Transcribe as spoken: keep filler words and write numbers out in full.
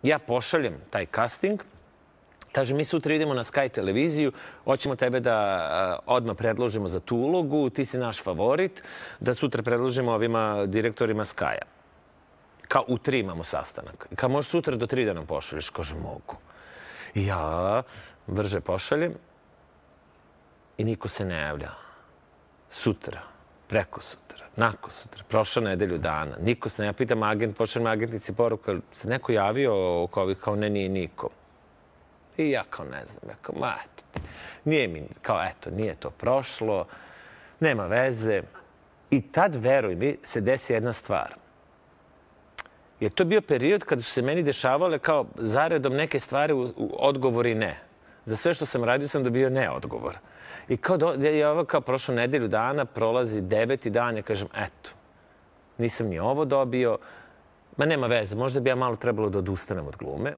Ja pošaljem taj casting, kaže, mi sutra idemo na Sky televiziju, hoćemo tebe da odmah predložimo za tu ulogu, ti si naš favorit, da sutra predložimo ovima direktorima Sky-a. Kao u tri imamo sastanak. Kao možeš sutra do tri da nam pošalješ? Kaže, mogu. I ja brže pošaljem i niko se ne javlja. Sutra, preko sutra, nakon sutra, prošla nedelju dana. Niko se ne javlja. Pitam agent, pošaljem agentnici poruku, se neko javio oko ovih, kao ne, nije niko. I ja kao ne znam, ja kao, ma eto, nije mi, kao eto, nije to prošlo, nema veze. I tad, veruj mi, se desi jedna stvar. Jer to je bio period kada su se meni dešavale kao zaredom neke stvari u, u odgovori ne. Za sve što sam radio sam dobio ne odgovor. I kao do, je ovo kao prošlo nedelju dana, prolazi deveti dan, ja kažem, eto, nisam ni ovo dobio, ma nema veze, možda bi ja malo trebalo da odustanem od glume.